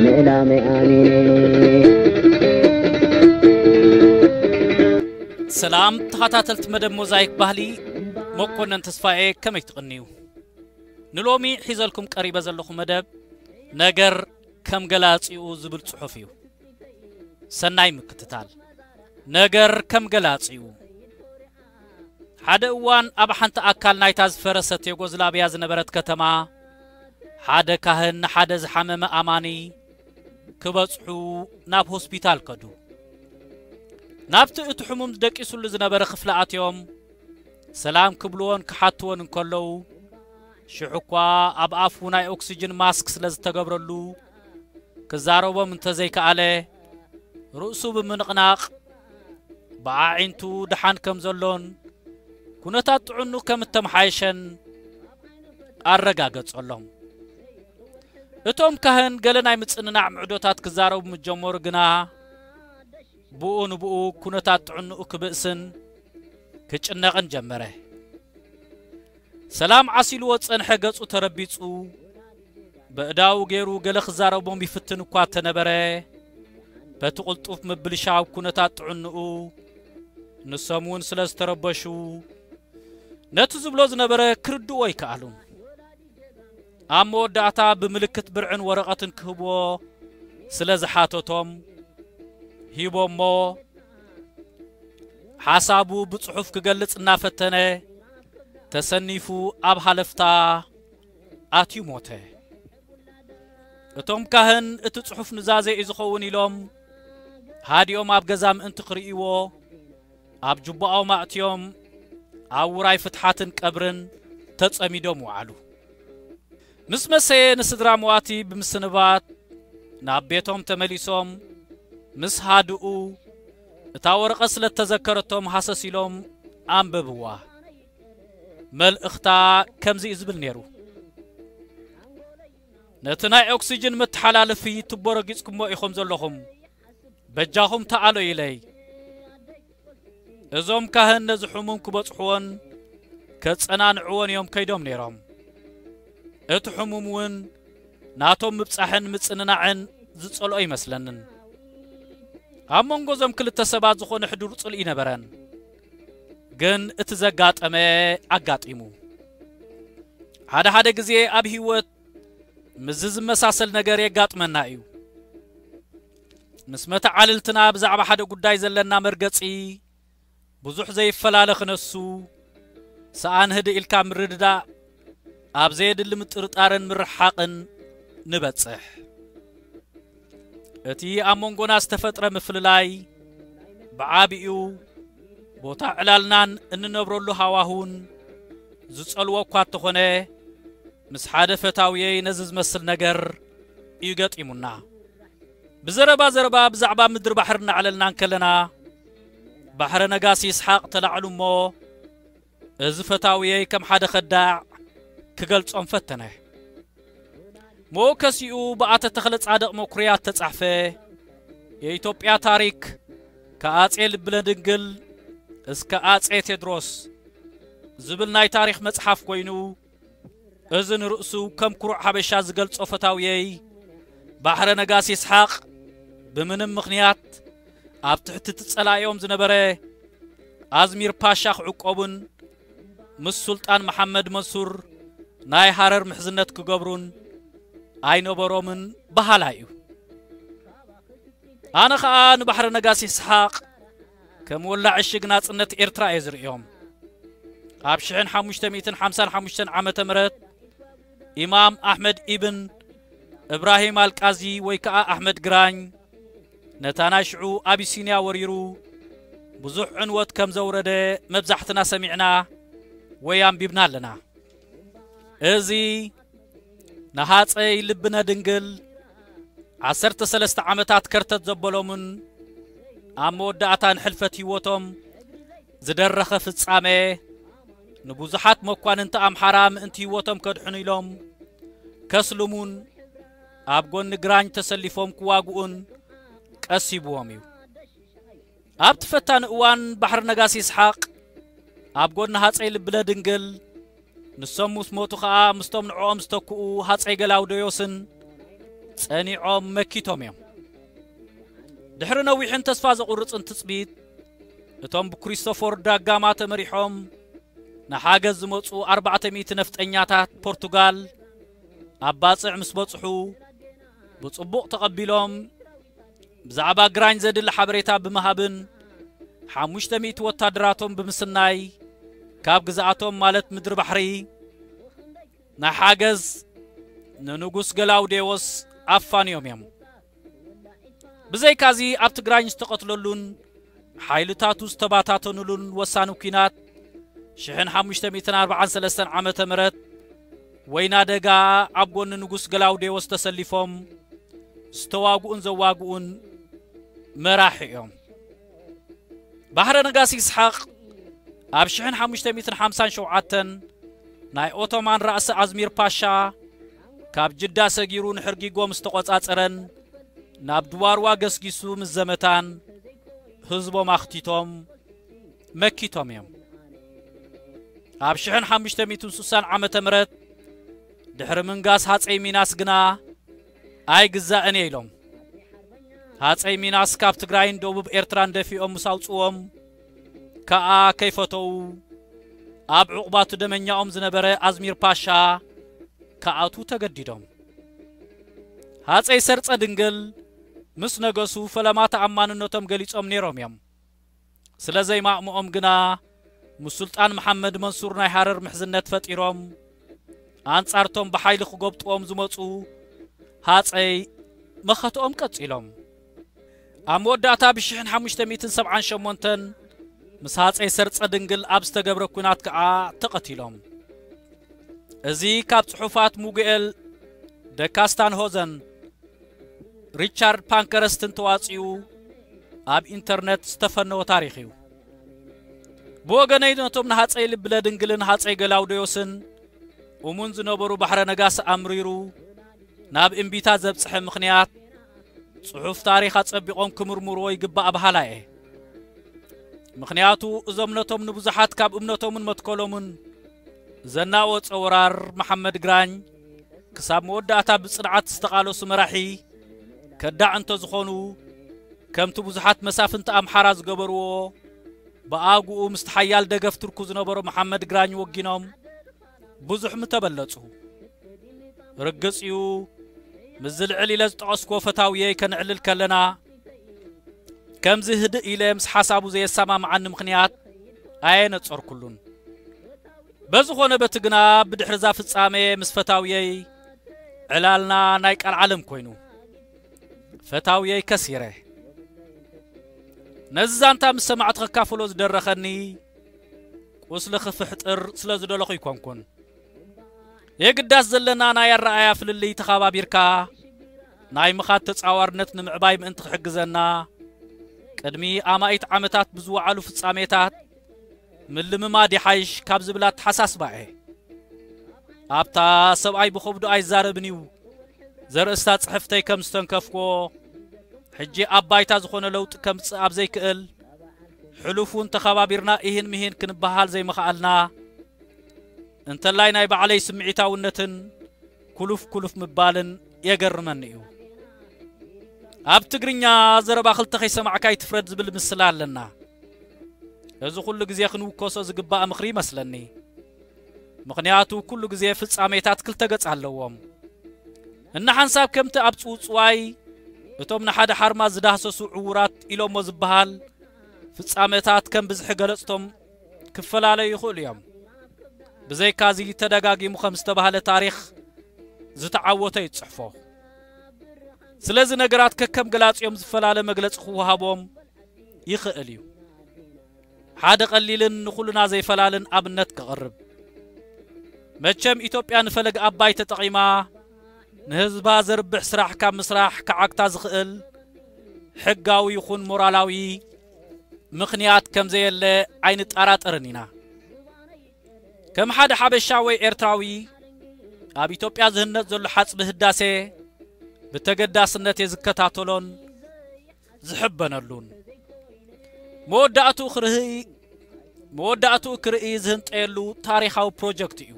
ምእላመይ ኣሚነ። ሰላም ተኸታተልቲ መደብ ሞዛይክ ባህሊ፣ መኮነን ተስፋኤ ከመይ ትቕንዩ? ንሎሚ ሒዘልኩም ቀሪበ ዘለኹ መደብ ነገር ከም ገላጺኡ ዝብል ጽሑፍ እዩ። ሰናይ ምክትታል። ነገር ከም ገላጺኡ። ሓደ እዋን ኣብ ሓንቲ ኣካል ናይታ ዝፈረሰት ዩጎዝላቭያ ዝነበረት ከተማ ሓደ ካህን ንሓደ ዝሓመመ ኣማኒ ክበጽሑ ናብ ሆስፒታል ከዱ። ናብቲ እቲ ሕሙም ደቂሱሉ ዝነበረ ክፍሊ ኣትዮም ሰላም ክብልዎን ክሓትዎን እንከለዉ ሽሕ እኳ ኣብ ኣፉ ናይ ኦክስጅን ማስክ ስለ ዝተገብረሉ ክዛረቦም እንተዘይከኣለ ርእሱ ብምንቕናቕ ብኣዒንቱ ደሓን ከም ዘሎን ኩነታት ጥዕኑ ከም እተመሓየሸን ኣረጋገጸሎም። እቶም ካህን ገለ ናይ ምጽንናዕ ምዕዶታት ክዛረቡ ምስ ጀመሩ ግና ብኡ ንብኡ ኩነታት ጥዕንኡ ክብእስን ክጭነቕን ጀመረ። ሰላም ዓሲልዎ ዝጸንሐ ገጹ ተረቢጹ በእዳዉ ገይሩ ገለ ክዛረቦም ይፍትን እኳ ተነበረ በቲ ቅልጡፍ ምብልሻው ኩነታት ጥዕንኡ ንሶም እውን ስለ ዝተረበሹ ነቲ ዝብሎ ዝነበረ ክርድዎ ኣይከኣሉን። ኣብ መወዳእታ ብምልክት ብርዕን ወረቐትን ክህብዎ ስለ ዝሓተቶም ሂቦሞ ሓሳቡ ብጽሑፍ ክገልጽ እናፈተነ ተሰኒፉ ኣብ ሃለፍታ ኣትዩ ሞተ። እቶም ካህን እቲ ጽሑፍ ኑዛዜ እዩ ዝኸውን ኢሎም ሃዲኦም ኣብ ገዛ ምእንቲ ክርእይዎ ኣብ ጁባኦም ኣእትዮም ኣብ ውራይ ፍትሓትን ቀብርን ተጸሚዶም ወዓሉ። ምስ መሰየ ንስድራ መዋቲ ብምስንባት ናብ ቤቶም ተመሊሶም ምስ ሃድኡ እታ ወረቐት ስለ እተዘከረቶም ሃሰስ ኢሎም ኣንበብዋ። መልእኽታ ከምዚ እዩ ዝብል ነይሩ። ነቲ ናይ ኦክስጅን መተሓላለፊ ቱቦ ረጊጽኩሞ ኢኹም ዘለኹም። በጃኹም ተኣሎ ኢለይ። እዞም ካህን ነዚ ሕሙም ክበጽሕዎን ከጸናንዕዎን እዮም ከይዶም ነይሮም። እቲ ሕሙም እውን ናቶም ምብጻሕን ምጽንናዕን ዝጸልኦ ይመስለንን። ኣብ መንጎ እዞም ክልተ ሰባት ዝኾነ ሕዱር ጽልኢ ነበረን። ግን እቲ ዘጋጠመ ኣጋጢሙ። ሓደ ሓደ ግዜ ኣብ ህይወት ምስዚ ዝመሳሰል ነገር የጋጥመና እዩ። ምስ መተዓልልትና ብዛዕባ ሓደ ጉዳይ ዘለና መርገጺ ብዙሕ ዘይፈላለ ክነሱ፣ ሰኣን ህድእ ኢልካ ምርድዳእ፣ ኣብ ዘየድሊ ምጥርጣርን ምርሕሓቕን ንበጽሕ። እቲ ኣብ መንጎና ዝተፈጥረ ምፍልላይ ብዓቢኡ ቦታ ዕላልናን እንነብረሉ ሃዋሁን ዝጸልዎ እኳ እንተኾነ፣ ምስ ሓደ ፈታውየይ ነዚ ዝመስል ነገር እዩ ገጢሙና። ብዘረባ ዘረባ ብዛዕባ ምድሪ ባሕሪ እናዕለልና እንከለና፣ ባሕረ ነጋሲ ይስሓቕ ተላዕሉ እሞ፣ እዚ ፈታውየይ ከም ሓደ ከዳዕ ክገልጾም ፈተነ። መወከሲኡ ብኣተ ተኽለ ጻድቕ መኩርያ እተጻሕፈ የኢትዮጵያ ታሪክ ከኣጼ ልብነ ድንግል እስከ ኣጼ ቴድሮስ ዝብል ናይ ታሪኽ መጽሓፍ ኮይኑ፣ እዚ ንርእሱ ከም ኩሩዕ ሓበሻ ዝገልጾ ፈታውየይ ባሕረ ነጋሲ ይስሓቕ ብምንም ምኽንያት ኣብ ትሕቲ እቲ ጸላኢኦም ዝነበረ ኣዝሚር ፓሻ ክዕቆቡን ምስ ሱልጣን መሓመድ መንሱር ናይ ሃረር ምሕዝነት ክገብሩን ኣይነበሮምን በሃላይ እዩ። ኣነ ኸኣ ንባሕረ ነጋሲ ይስሓቕ ከም ወላዕ ዕሽግ ናጽነት ኤርትራ እየ ዝርእዮም። ኣብ ሽሕን ሓሙሽተ ሚእትን ሓምሳን ሓሙሽተን ዓመተ ምህረት ኢማም ኣሕመድ ኢብን እብራሂም ኣልቃዚ ወይ ከኣ ኣሕመድ ግራኝ ነታ ናይ ሽዑ ኣቢሲንያ ወሪሩ ብዙሕ ዕንወት ከም ዘውረደ መብዛሕትና ሰሚዕና ወይ ኣንቢብና ኣለና። እዚ ንሃጸይ ልብነ ድንግል ዓሰርተ ሰለስተ ዓመታት ከርተት ዘበሎምን ኣብ መወዳእታ ንሕልፈት ህይወቶም ዝደረኸ ፍጻሜ ንብዙሓት መኳንንቲ ኣምሓራ ምእንቲ ህይወቶም ከድሕኑ ኢሎም ከስልሙን ኣብ ጎኒ ግራኝ ተሰሊፎም ክዋግኡን ቀሲብዎም እዩ። ኣብቲ ፈታኒ እዋን ባሕሪ ነጋሲ ይስሓቕ ኣብ ጎኒ ሃጸይ ልብነ ድንግል፣ ንሶም ምስ ሞቱ ኸኣ ምስቶም ንዕኦም ዝተክኡ ሃጸይ ገላውደዮስን ጸኒዖም መኪቶም እዮም። ድሕሪ ነዊሕን ተስፋ ዘቑርጽን ትጽቢት፣ እቶም ብክሪስቶፈር ዳጋማ ተመሪሖም ንሓገዝ ዝመጹ ኣርባዕተ ሚእቲ ነፍጠኛታት ፖርቱጋል ኣብ ባጽዕ ምስ በጽሑ፣ ብጽቡቕ ተቐቢሎም፣ ብዛዕባ ግራኝ ዘድሊ ሓበሬታ ብምሃብን ሓሙሽተ ሚእቲ ወታደራቶም ብምስናይ፣ ካብ ግዝኣቶም ማለት ምድሪ ባሕሪ ናይ ሓገዝ ንንጉስ ገላውዴዎስ ኣፋንዮም እዮም። ብዘይካዚ ኣብ ትግራይ ዝተቐትለሉን ሓይልታቱ ዝተባታተኑሉን ወሳኒ ኲናት ሽሕን ሓሙሽተ ሚእትን ኣርባዓን ሰለስተን ዓመተ ምህረት ወይና ደጋ ኣብ ጎኒ ንጉስ ገላውዴዎስ ተሰሊፎም ዝተዋግኡን ዘዋግኡን መራሒ እዮም። ባሕረ ነጋሲ ይስሓቕ ኣብ ሽሕን ሓሙሽተ ሚእትን ሓምሳን ሸውዓተን ናይ ኦቶማን ራእሲ ኣዝሚር ፓሻ ካብ ጅዳ ሰጊሩ ንሕርጊጎ ምስ ተቖጻጸረን ናብ ድዋርዋ ገስጊሱ ምስ ዘመታን ህዝቦም ኣኽቲቶም መኪቶም እዮም። ኣብ ሽሕን ሓሙሽተ ሚእትን ስሳን ዓመተ ምህረት ድሕሪ ምንጋስ ሃጸይ ሚናስ ግና ኣይግዛእን እየ ኢሎም። ሃጸይ ሚናስ ካብ ትግራይን ደቡብ ኤርትራን ደፊኦም ምስ ኣውጽዎም ከኣ ከይፈተው ኣብ ዕቑባቱ ደመኛኦም ዝነበረ ኣዝሚር ፓሻ ክኣትዉ ተገዲዶም። ሃጸይ ሰርጸ ድንግል ምስ ነገሱ ፈለማ ተኣማንነቶም ገሊጾም ነይሮም እዮም። ስለ ዘይማእምኦም ግና ምስ ሱልጣን መሓመድ መንሱር ናይ ሃረር ምሕዝነት ፈጢሮም ኣንጻርቶም ብሓይሊ ክጎብጥዎም ዝመጹ ሃጸይ መኸትኦም ቀጺሎም። ኣብ መወዳእታ ብሽሕን ሓሙሽተ ሚእትን ሰብዓን ሸሞንተን ምስ ሃጸይ ሰርጸ ድንግል ኣብ ዝተገብረ ኲናት ከኣ ተቐቲሎም። እዚ ካብ ጽሑፋት ሙጉኤል ደካስታንሆዘን ሪቻርድ ፓንከረስትን ተዋጺኡ ኣብ ኢንተርነት ዝተፈነወ ታሪኽ እዩ። ብወገነይ ነቶም ንሃጸይ ልብለ ድንግልን ሃጸይ ገላውዴዎስን እሙን ዝነበሩ ባሕረ ነጋሲ ኣምሪሩ ናብ እምቢታ ዘብጽሐ ምኽንያት ጽሑፍ ታሪኽ ኣጸቢቖም ክምርምርዎ ይግባእ በሃላይ እየ። ምኽንያቱ እዞም ነቶም ንብዙሓት ካብ እምነቶምን መትከሎምን ዘናወጸ ወራር መሓመድ ግራኝ ክሳብ መወዳእታ ብጽንዓት ዝተቓለሱ መራሒ ከዳዕ እንተዝኾኑ፣ ከምቲ ብዙሓት መሳፍንቲ ኣምሓራ ዝገበርዎ፣ ብኣግኡ ምስቲ ሓያል ደገፍ ትርኩ ዝነበሮ መሓመድ ግራኝ ወጊኖም ብዙሕ ምተበለጹ። ርግጽ እዩ፣ ምስዚ ልዕል ኢለ ዝጠቐስኩዎ ፈታውየይ ከነዕልል ከለና፣ ከምዚ ህድእ ኢለ ምስ ሓሳቡ ዘየሰማምዓኒ ምኽንያት ኣየነጸርኩሉን። በዝኾነ በቲ ግና ብድሕሪ እዛ ፍጻመ ምስ ፈታውየይ ዕላልና ናይ ቀልዓለም ኮይኑ፣ ፈታውየይ ከሲረ። ነዚ ዛንታ ምስ ሰማዕቲ ከካፍሎ ዝደረኸኒ ቁስሊ ክፍሕጥር ስለ ዝደለኹ ይኮንኩን። የግዳስ ዘለና ናይ ኣረኣያ ፍልልይ ተኻባቢርካ ናይ ምኻድ ተጻዋርነት ንምዕባይ ምእንቲ ክሕግዘና፣ ቅድሚ ኣማኢት ዓመታት ብዝወዓሉ ፍጻሜታት ምልምማድ ይሓይሽ ካብ ዝብል ኣተሓሳስባ እየ። ኣብታ ሰብኣይ ብኸብዱ ኣይዛረብን እዩ ዘርእስታ ጽሕፍተይ ከም ዝተንከፍኩዎ፣ ሕጂ ኣብ ባይታ ዝኾነ ለውጢ ከምጽእ ኣብ ዘይክእል፣ ሕሉፍ እውን ተኸባቢርና ኢሂን ምሂን ክንበሃል ዘይምኽኣልና፣ እንተላይ ናይ ባዕለይ ስምዒታውነትን ኩሉፍ ኩሉፍ ምባልን የገርመኒ እዩ። ኣብ ትግርኛ ዘረባ ክልተ ከይሰማዕካ ኣይትፍረድ ዝብል ምስላ ኣለና። እዚ ኩሉ ግዜ ክንውከሶ ዝግባእ ምኽሪ ይመስለኒ። ምኽንያቱ ኩሉ ግዜ ፍጻሜታት ክልተ ገጽ ኣለዎም። እንሓንሳብ ከምቲ ኣብ ጽውጽዋይ እቶም ንሓደ ሓርማዝ ዝዳህሰሱ ዕዉራት ኢሎሞ ዝበሃል፣ ፍጻመታት ከም ብዝሒ ገለጽቶም ክፈላለዩ ይኽእሉ እዮም። ብዘይካዚ ተደጋጊሙ ከም ዝተባህለ ታሪኽ ዝተዓወተ እዩ ዝጽሕፎ። ስለዚ ነገራት ከከም ገላጺኦም ዝፈላለ መግለጺ ክወሃቦም ይኽእል እዩ። ሓደ ቀሊልን ንኹልና ዘይፈላልን ኣብነት ከቕርብ። መቸም ኢትዮጵያ ንፈለግ ኣባይ ተጠቒማ ንህዝባ ዘርብሕ ስራሕ ካብ ምስራሕ ክዓግታ ዝኽእል ሕጋዊ ይኹን ሞራላዊ ምኽንያት ከም ዘየለ ኣይንጠራጠርን ኢና። ከም ሓደ ሓበሻ ወይ ኤርትራዊ ኣብ ኢትዮጵያ ዝህነጽ ዘሎ ሓጽቢ ህዳሴ ብተገዳስነት እየ ዝከታተሎን ዝሕበነሉን። መወዳእትኡ ክርኢ መወዳእትኡ ክርኢ ዝህንጠየሉ ታሪኻዊ ፕሮጀክት እዩ።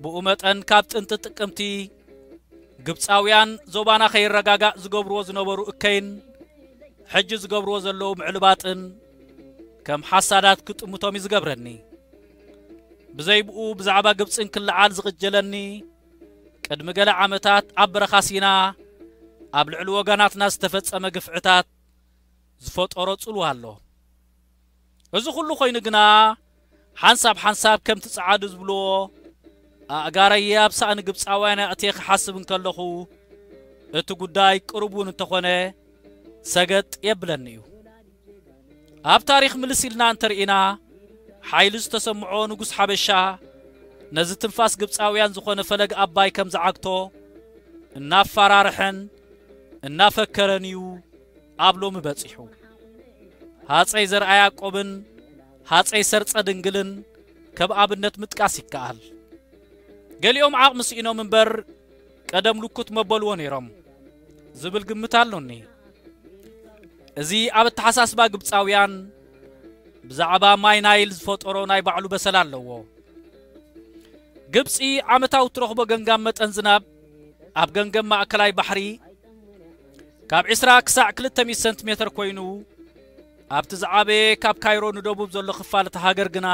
ብኡ መጠን ካብ ጥንቲ ጥቅምቲ ግብጻውያን ዞባና ከይረጋጋእ ዝገብርዎ ዝነበሩ እከይን ሕጂ ዝገብርዎ ዘለዉ ምዕልባጥን ከም ሓሳዳት ክጥምቶም እዩ ዝገብረኒ። ብዘይ ብኡ ብዛዕባ ግብጽን ክለዓል ዝቕጀለኒ፣ ቅድሚ ገለ ዓመታት ኣብ በረኻ ሲና ኣብ ልዕሊ ወገናትና ዝተፈጸመ ግፍዕታት ዝፈጠሮ ጽልዋ ኣሎ። እዚ ኩሉ ኮይኑ ግና፣ ሓንሳብ ሓንሳብ ከምቲ ጸዓዱ ዝብልዎ፣ ኣእጋረየ ኣብ ሳእኒ ግብጻውያን ኣእትየ ክሓስብ እንከለኹ፣ እቲ ጉዳይ ቅሩብ እውን እንተኾነ ሰገጥ የብለኒ እዩ። ኣብ ታሪኽ ምልስ ኢልና እንተርኢና፣ ሓይሊ ዝተሰምዖ ንጉስ ሓበሻ ነዚ ትንፋስ ግብጻውያን ዝኾነ ፈለግ ኣባይ ከም ዝዓግቶ እናፈራርሐን እናፈከረን እዩ ኣብ ሎሚ በጺሑ። ሃጸይ ዘርኣ ያዕቆብን ሃጸይ ሰርጸ ድንግልን ከም ኣብነት ምጥቃስ ይከኣል። ገሊኦም ዓቕሚ ስኢኖም እምበር ቀደም ልኩት መበልዎ ነይሮም ዝብል ግምት ኣሎኒ። እዚ ኣብ ኣተሓሳስባ ግብጻውያን ብዛዕባ ማይ ናይል ዝፈጠሮ ናይ ባዕሉ በሰል ኣለዎ። ግብጺ ዓመታዊ ትረኽቦ ገምጋም መጠን ዝናብ ኣብ ገምገም ማእከላይ ባሕሪ ካብ ዕስራ ክሳዕ ክልተ ሚእቲ ሰንቲሜትር ኮይኑ፣ ኣብቲ ዝዓበየ ካብ ካይሮ ንደቡብ ዘሎ ክፋል እታ ሃገር ግና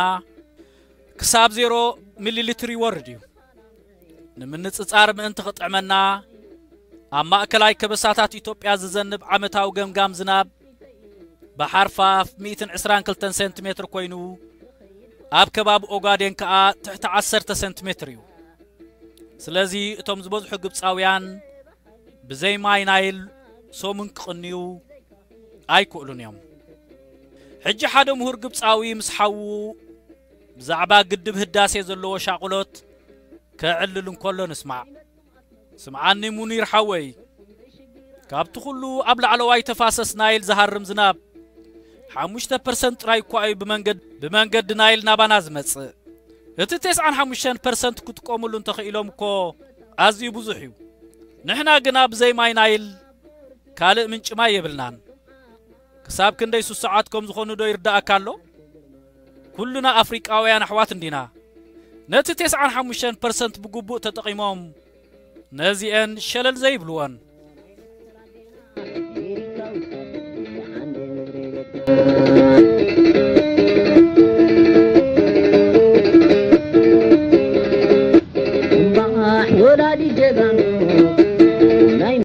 ክሳብ ዜሮ ሚሊ ሊትር ይወርድ እዩ። ንምንጽጻር ምእንቲ ክጥዕመና፣ ኣብ ማእከላይ ከበሳታት ኢትዮጵያ ዝዘንብ ዓመታዊ ገምጋም ዝናብ ብሓርፋፍ ሚእትን ዕስራን ክልተን ሴንቲሜትር ኮይኑ፣ ኣብ ከባቢ ኦጋዴን ከኣ ትሕቲ ዓሰርተ ሴንቲሜትር እዩ። ስለዚ እቶም ዝበዝሑ ግብጻውያን ብዘይ ማይ ናይል ሰሙን ክቕንዩ ኣይክእሉን እዮም። ሕጂ ሓደ ምሁር ግብጻዊ ምስ ሓዉ ብዛዕባ ግድብ ህዳሴ ዘለዎ ሻቕሎት ከዕልል እንከሎ ንስማዕ። ስምዓኒ ሙኒር ሓወይ፣ ካብቲ ኩሉ ኣብ ላዕለዋይ ተፋሰስ ናይል ዝሃርም ዝናብ ሓሙሽተ ፐርሰንት ጥራይ እኳ እዩ ብመንገድ-፣ ብመንገዲ ናይል ናባና ዝመጽእ። እቲ ተስዓን ሓሙሽተን ፐርሰንት ክጥቀሙሉ እንተኽኢሎም እኮ ኣዝዩ ብዙሕ እዩ። ንሕና ግና ብዘይ ማይ ናይል ካልእ ምንጪ ማይ የብልናን። ክሳብ ክንደይ ስሱዓት ከም ዝኾኑ ዶ ይርዳእካ ኣሎ? ኩልና ኣፍሪቃውያን ኣሕዋት እንዲና። ነቲ ተስዓን ሓሙሽተን ፐርሰንት ብግቡእ ተጠቒሞም ነዚኤን ሸለል ዘይብልወን።